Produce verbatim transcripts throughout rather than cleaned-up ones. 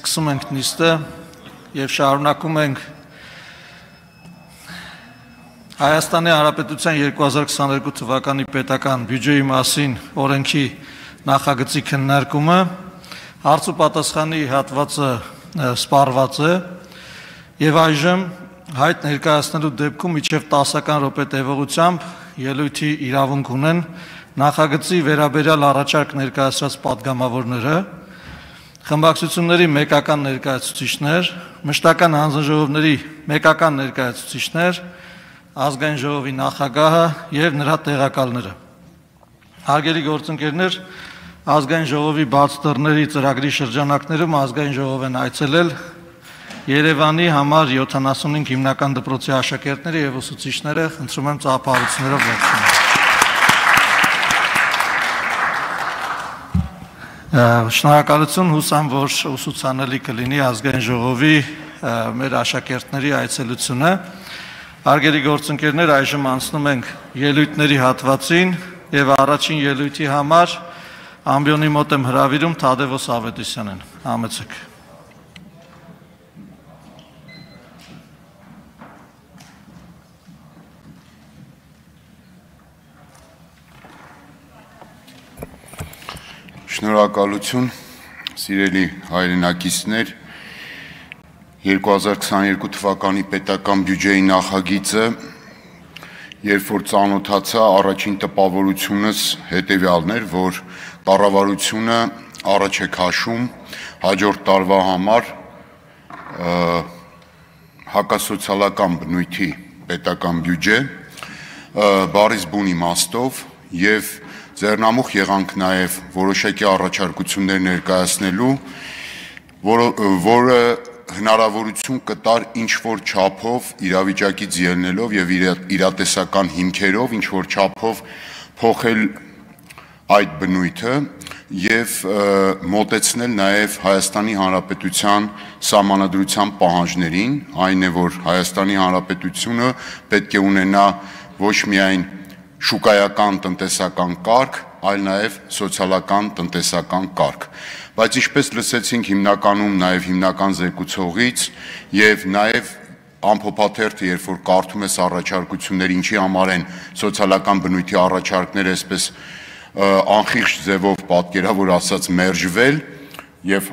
սկսում ենք նիստը և շարունակում ենք Հայաստանի Հանրապետության երկու հազար քսաներկու թվականի պետական բյուջեի մասին օրենքի նախագծի քննարկումը, հարց ու պատասխանի հատվածը սպառված է և այժմ հայտ ներկայացնելու դեպքում մինչև տասական րոպե տևողությամբ ելույթի իրավունք ունեն նախագծի վերաբերյալ առաջարկ ներկայացրած պատգամավորները, խմբակցությունների մեկական ներկայացուցիչներ, մշտական հանձնաժողովների մեկական ներկայացուցիչներ, ազգային ժողովի նախագահը և նրա տեղակալները։ Հարգելի գործընկերներ, ազգային ժողովի բաց դռների ծրագրի շրջանակներում ազգային ժողով են այցելել Երևանի համար յոթանասունհինգ հիմնական դպրոցի աշակերտները և ուսուցիչները, խնդրում եմ ծափահարություններով ողջունել։ Շնորհակալություն, հուսամ, որ ուսուցանելի կլինի ազգային ժողովի մեր աշակերտների այցելությունը։ Հարգելի գործընկերներ, այժմ անցնում ենք ելույթների հատվածին և առաջին ելույթի համար ամբիոնի մոտ եմ հրավիրում Թադևոս Ավետիսյանին, համեցեք։ Շնորհակալություն, սիրելի հայրենակիցներ, երկու հազար քսաներկու թվականի պետական բյուջեի նախագիծը, երբ որ ծանոթացա, առաջին տպավորությունս հետևյալն էր, որ կառավարությունը առաջ է քաշում հաջորդ տարվա համար հակասոցիալական բնույթի պետական բյուջե, բառից բուն իմաստով և ձեռնամուխ եղանք նաև որոշակի առաջարկություններ ներկայացնելու, որը հնարավորություն կտար ինչ-որ չափով իրավիճակից ելնելով և իրատեսական հիմքերով ինչ-որ չափով փոխել այդ բնույթը և մոտեցնել նաև Հայաստանի Հանրապետության սահմանադրության պահանջներին, այն է, որ Հայաստանի Հանրապետությունը պետք է ունենա ոչ միայն շուկայական տնտեսական կարգ, այլ նաև սոցիալական տնտեսական կարգ, բայց ինչպես լսեցինք հիմնականում նաև հիմնական զեկուցողից և նաև ամփոփաթերթը, երբ որ կարդում ես առաջարկություններ, ինչի համար են սոցիալական բնույթի առաջարկները այսպես անխիղճ ձևով պատկերավոր ասած մերժվել և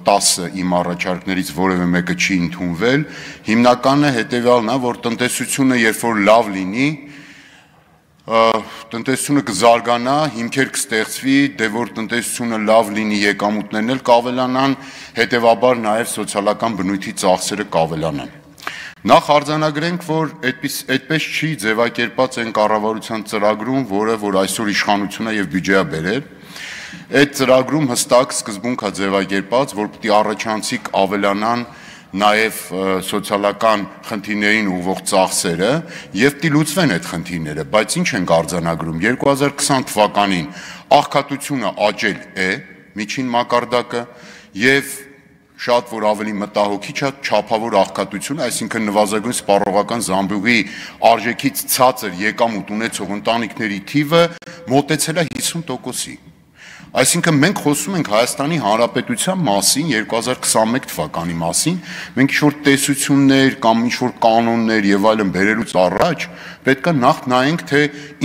տասը իմ առաջարկներից որևէ մեկը չի ընդունվել, հիմնականը հետևյալն է, որ տնտեսությունը երբ որ լավ լինի, տնտեսությունը կզարգանա, հիմքեր կստեղծվի, դե որ տնտեսությունը լավ լինի, եկամուտներն էլ կավելանան, հետևաբար նաև սոցիալական բնույթի ծախսերը կավելանան։ Նախ արձանագրենք, որ այդպես չի ձևակերպած այն կառավարության ծրագրում, որը որ այսօր իշխանությունը և բյուջեա բերել, այդ ծրագրում հստակ սկզբունք է ձևակերպած, որ պիտի առաջանցիկ ավելանան նաև սոցիալական խնդիրներին ուղղող ծախսերը և պիտի լուծվեն այդ խնդիրները, բայց ինչ ենք արձանագրում, երկու հազար քսան թվականին աղքատությունը աճել է, միջին մակարդակը և շատ որ ավելի մտահոգիչ է չափավոր աղքատություն, այսինքն նվազագույն սպառողական զամբյուղի արժեքից ցածր եկամուտ ունեցող ընտանիքների թիվը մոտեցել է հիսուն տոկոսի։ Այսինքն մենք խոսում ենք Հայաստանի Հանրապետության մասին, երկու հազար քսանմեկ թվականի մասին, մենք ինչ-որ տեսություններ կամ ինչ-որ կանոններ և այլն բերելուց առաջ պետք է նախ նայենք, թե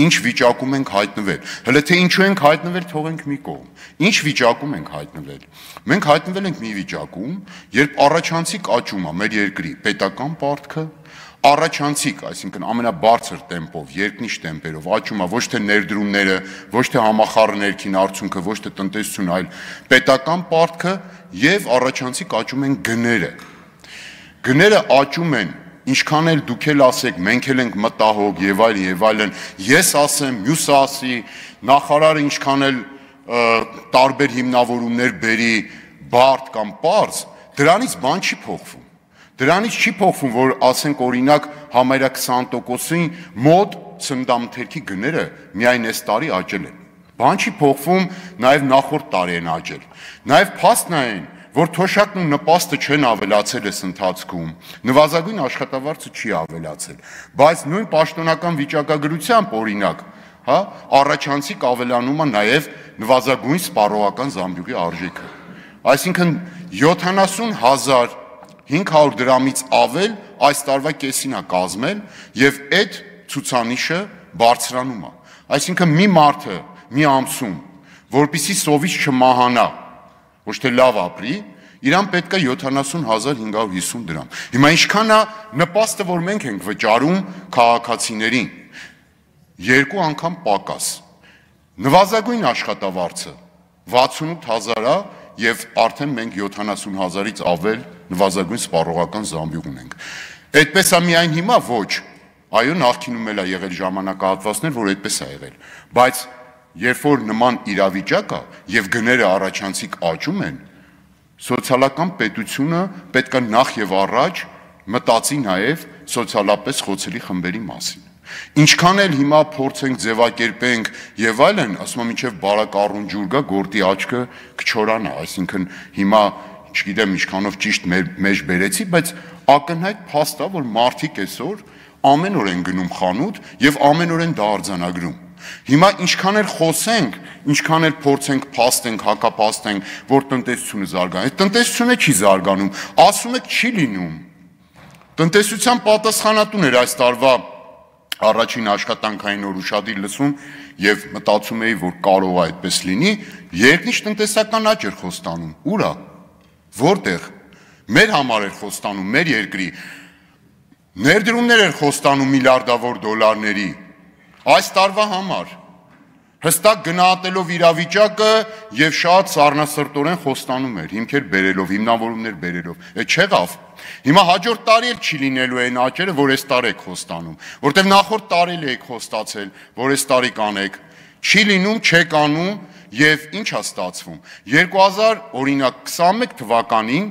ինչ վիճակում ենք հայտնվել, հələ թե ինչու ենք հայտնվել թողենք մի կողմ, ինչ վիճակում ենք հայտնվել։ Մենք հայտնվել ենք մի վիճակում, երբ առաջանցիկ աճում է մեր երկրի պետական պարտքը, առաջանցիկ, այսինքն ամենաբարձր տեմպով, երկնիշ տեմպերով աճում է ոչ թե ներդրումները, ոչ թե համախառն ներքին արդյունքը, ոչ թե տնտեսությունը, այլ պետական պարտքը և առաջանցիկ աճում են գները։ Գները աճում են, ինչքան էլ դուք էլ ասեք, մենք էլ ենք մտահոգ և այլն և այլն, ես ասեմ, մյուսը ասի, նախարարը ինչքան էլ տարբեր հիմնավորումներ բերի բարդ կամ պարզ, դրանից բան չի փոխվում։ Դրանից չի փոխվում, որ ասենք օրինակ համարյա քսան տոկոսին մոտ սննդամթերքի գները միայն այս տարի աճել են։ Բան չի փոխվում, նաև նախորդ տարի են աճել։ Նաև փաստն է այն, որ թոշակն ու նպաստը չեն ավելացել այս ընթացքում, նվազագույն աշխատավարձը չի ավելացել, բայց նույն պաշտոնական վիճակագրությամբ օրինակ, հա, առաջանցիկ ավելանում է նաև նվազագույն սպառողական զամբյուղի արժեքը։ Այսինքն յոթանասուն հազար հինգ հարյուր դրամից ավել այս տարվա կեսին է կազմել եւ այդ ցուցանիշը բարձրանում է։ Այսինքն մի մարդը մի ամսում, որպեսզի սովից չմահանա, ոչ թե լավ ապրի, իրան պետք է յոթանասուն հազար հինգ հարյուր հիսուն դրամ։ Հիմա ինչքան է նպաստը, որ մենք ենք վճարում քաղաքացիներին, երկու անգամ պակաս։ Նվազագույն աշխատավարձը վաթսունութ հազար է եւ արդեն մենք յոթանասուն հազարից ավել նվազագույն սպառողական զամբյուղ ունենք։ Այդպես է միայն հիմա ոչ, այո, նախկինում էլ է եղել ժամանակահատվածներ, որ այդպես է եղել, բայց երբ որ նման իրավիճակ է եւ գները առաջանցիկ աճում են, սոցիալական պետությունը պետք է նախ եւ առաջ մտածի նաեւ սոցիալապես խոցելի խմբերի մասին։ Ինչքան էլ հիմա փորձենք ձևակերպենք եւ այլն, ասում եմ, մինչեւ բարակառուն ջուր գա, գործի աչքը կչորանա, այսինքն հիմա չգիտեմ ինչքանով ճիշտ մեջ բերեցի, բայց ակնհայտ փաստ է, որ մարդիկ այսօր ամեն օր են գնում խանութ եւ ամեն օր են դա արձանագրում։ Հիմա ինչքան էլ խոսենք, ինչքան էլ փորձենք փաստենք, հակափաստենք, որ տնտեսությունը զարգանում, տնտեսությունը չի զարգանում, ասում եք չի լինում։ Տնտեսության պատասխանատուներ այս տարվա առաջին աշխատանքային օր ուշադիր լսում եւ մտածում էի, որ կարող է այդպես լինի, երկնիշ տնտեսական աճ էր խոստանում։ Ուր է։ Որտեղ։ Մեր համար էր խոստանում, մեր երկրի ներդրումներ էր խոստանում միլիարդավոր դոլարների։ Այս տարվա համար հստակ գնահատելով իրավիճակը եւ շատ սառնասրտորեն խոստանում էր, հիմքեր բերելով, հիմնավորումներ բերելով։ Այդ չեղավ։ Հիմա հաջորդ տարի էլ չի լինելու այն աճերը, որ այս տարի եք խոստանում, որտեղ նախորդ տարի էլ եք խոստացել, որ այս տարի կանեք։ Չի լինում, չեք անում եւ ինչ է ստացվում։ երկու հազար օրինակ քսանմեկ թվականին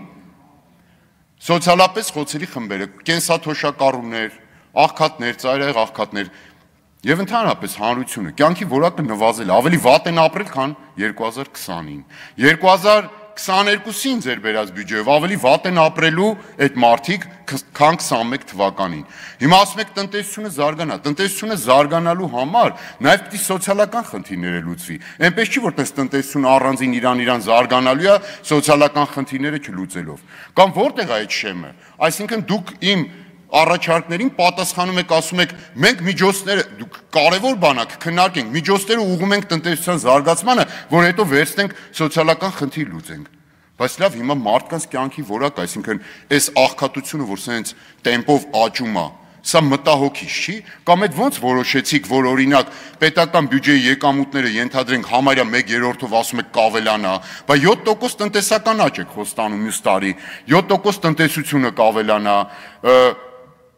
սոցիալապես խոցելի խմբերը, կենսաթոշակառուներ, աղքատներ, ծայրահեղ աղքատներ եւ ընդհանրապես հանրությունը կյանքի որակը նվազել, ավելի վատ են ապրել, քան երկու հազար քսանին։ երկու հազար քսաներկուսին ձեր բերած բյուջեով ավելի վատ են ապրելու այդ մարդիկ, քան քսանմեկ թվականին։ Հիմա ասում եք տնտեսությունը զարգանա, տնտեսությունը զարգանալու համար նաեւ պիտի սոցիալական խնդիրները լուծվի։ Այնպես չի, որ տնտեսությունը առանձին իրան-իրան զարգանալու է սոցիալական խնդիրները չլուծելով։ Կամ որտեղ է այդ շեմը։ Այսինքն դուք իմ առաջարկներին պատասխանում եք, ասում եք, մենք միջոցները, դուք կարևոր բան է, քննարկենք, միջոցները ուղղում ենք տնտեսության զարգացմանը, որ հետո վերցնենք սոցիալական խնդիր լուծենք։ Բայց լավ, հիմա մարդկանց կյանքի որակ, այսինքն այս աղքատությունը, որ սենց տեմպով աճում է, սա մտահոգիչ չի, կամ այդ ոնց որոշեցիք, որ օրինակ պետական բյուջեի եկամուտները ենթադրենք համարյա մեկ երրորդով ասում եք կավելանա, բայց յոթ տոկոս տնտեսական աճ եք խոստանում մյուս տարի, յոթ տոկոս տնտեսությունը կավելանա,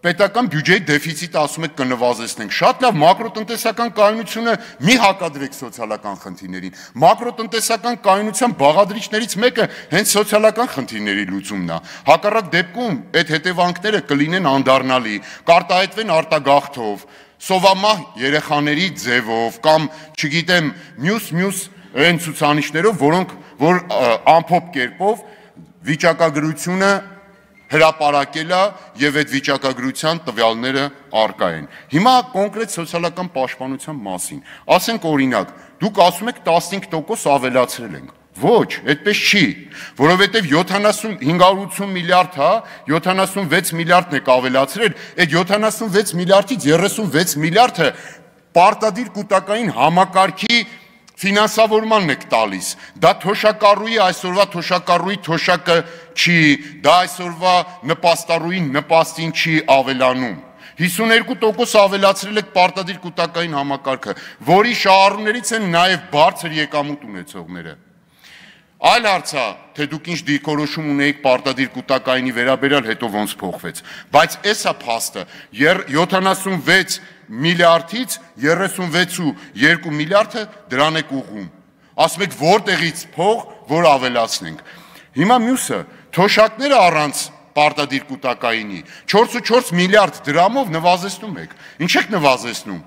պետական բյուջեի դեֆիցիտը ասում եք կնվազեցնենք։ Շատ լավ, մակրոտնտեսական կայունությունը մի հակադրեք սոցիալական խնդիրներին։ Մակրոտնտեսական կայունության բաղադրիչներից մեկը հենց սոցիալական խնդիրների լուծումն է։ Հակառակ դեպքում այդ հետևանքները կլինեն անդառնալի, կարտահայտվեն արտագաղթով, սովամահ երեխաների ձևով կամ, չգիտեմ, մյուս-մյուս այն ցուցանիշներով, որոնք որ ամփոփ կերպով վիճակագրությունը հրապարակել է եւ այդ վիճակագրության տվյալները առկա են։ Հիմա կոնկրետ սոցիալական պաշտպանության մասին։ Ասենք օրինակ, դուք ասում եք տասնհինգ տոկոս ավելացրել ենք։ Ոչ, այդպես չի, որովհետեւ յոթանասուն հինգ հարյուր ութսուն միլիարդ հա, յոթանասունվեց միլիարդն եք ավելացրել, այդ յոթանասունվեց միլիարդից երեսունվեց միլիարդը պարտադիր կൂട്ടակային համակարգի ֆինանսավորմանն եք տալիս։ Դա թոշակառուի այսօրվա թոշակառուի թոշակը չի, դա այսօրվա նպաստառուի նպաստին չի ավելանում։ հիսուներկու տոկոս ավելացրել եք պարտադիր կൂട്ടակային համակարգը, որի շահառուներից են նաև բարձր եկամուտ ունեցողները։ Այլ հարց է, թե դուք ինչ դիրքորոշում ունեիք պարտադիր կൂട്ടակայինի վերաբերյալ, հետո ոնց փոխվեց։ Բայց էս է փաստը, յոթանասունվեց միլիարդից երեսունվեց ու երկու միլիարդը դրան եք ուղղում։ Ասում եք որտեղից փող, որ ավելացնենք։ Հիմա մյուսը, թոշակները առանց պարտադիր կൂട്ടակայինի չորս ու չորս միլիարդ դրամով նվազեցնում եք։ Ինչ եք նվազեցնում։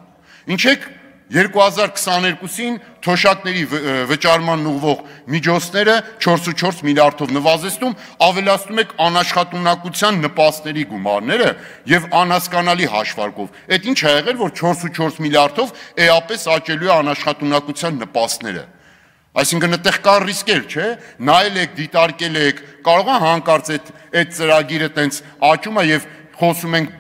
Ինչ եք երկու հազար քսաներկուսին թոշակների վճարման ուղղող միջոցները չորս ու չորս միլիարդով նվազեցնում, ավելացնում եք անաշխատունակության նպաստների գումարները եւ անհասկանալի հաշվարկով։ Այդ ինչ է եղել, որ չորս ու չորս միլիարդով էապես աճելու է անաշխատունակության նպաստները։ Այսինքն այդտեղ կա ռիսկեր, չէ՞։ Նայել եք, դիտարկել եք, կարող է հանկարծ այդ այդ ծրագիրը տենց աճում է եւ խոսում ենք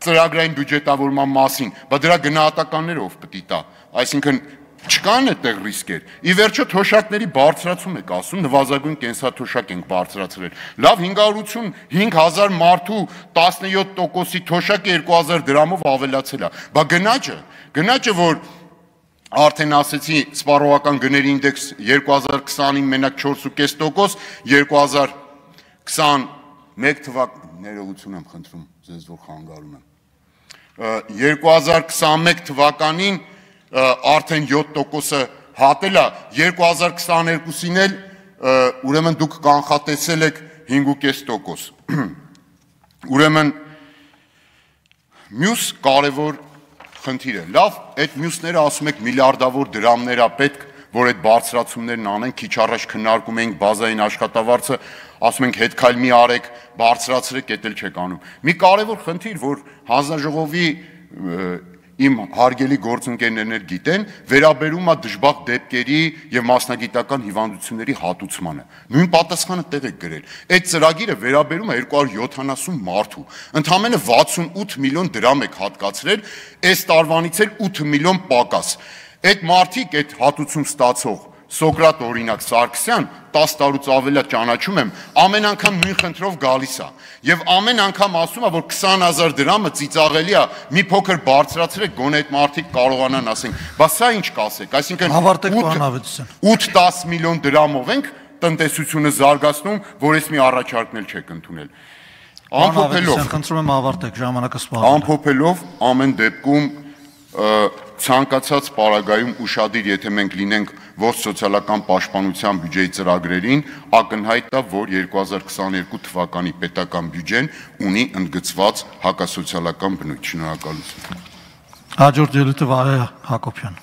ծրագրային բյուջետավորման մասին, բայց դրա գնահատականները ով պետք է տա։ Այսինքն չկան այդտեղ ռիսկեր։ Ի վերջո թոշակների բարձրացում եք ասում, նվազագույն կենսաթոշակ ենք բարձրացրել։ Լավ հինգ հարյուր ութ հազար մարդու տասնյոթ տոկոսի թոշակը երկու հազար դրամով ավելացել է։ Բա գնաճը, գնաճը որ արդեն ասեցի սպառողական գների ինդեքս երկու հազար քսանին մենակ չորս ու կես տոկոս, երկու հազար քսաներեք թվականին ներողություն եմ խնդրում, ձեզ որ խանգարում եմ։ երկու հազար քսանմեկ թվականին արդեն յոթ տոկոսը հատել է, երկու հազար քսաներկուսին էլ ուրեմն դուք կանխատեսել եք հինգ ու կես տոկոս։ Ուրեմն մյուս կարևոր խնդիրը, լավ, այդ մյուսները ասում եք միլիարդավոր դրամներ է պետք, որ այդ բարձրացումներն անեն, քիչ առաջ քննարկում էինք բազային աշխատավարձը, ասում ենք հետ քայլ մի արեք, բարձրացրեք, դա էլ չեք անում։ Մի կարևոր խնդիր, որ հանձնաժողովի իմ հարգելի գործընկերներն գիտեն, վերաբերում է դժբախտ դեպքերի եւ մասնագիտական հիվանդությունների հատուցմանը։ Նույն պատասխանը տեղ եք գրել։ Այդ ծրագիրը վերաբերում է երկու հարյուր յոթանասուն մարդու։ Ընդամենը վաթսունութ միլիոն դրամ եք հատկացրել, այս տարվանից էլ ութ միլիոն պակաս։ Այդ մարդիկ, այդ հատուցում ստացող Սոկրատ օրինակ Սարգսյան, տասը տարուց ավելի ճանաչում եմ, ամեն անգամ նույն խնդրով գալիս է եւ ամեն անգամ ասում է, որ քսան հազար դրամը ծիծաղելի է, մի փոքր բարձրացրեք, գոնե այդ մարդիկ կարողանան ասենք, բա սա ինչ կասեք, այսինքն ութ դաս միլիոն դրամով ենք տնտեսությունը զարգացնում, որ ես մի առաջարկն էլ չեք ընդունել։ Ամփոփելով, խնդրում եմ ավարտեք, ժամանակը սպառել է։ Ամփոփելով, ամեն դեպքում ցանկացած պարագայում ուշադիր, եթե մենք լինենք ողջ սոցիալական պաշտպանության բյուջեի ծրագրերին, ակնհայտ է, որ երկու հազար քսաներկու թվականի պետական բյուջեն ունի ընդգծված հակասոցիալական բնույթ։ Շնորհակալություն։ Հաջորդ ելույթը Վահե Հակոբյան։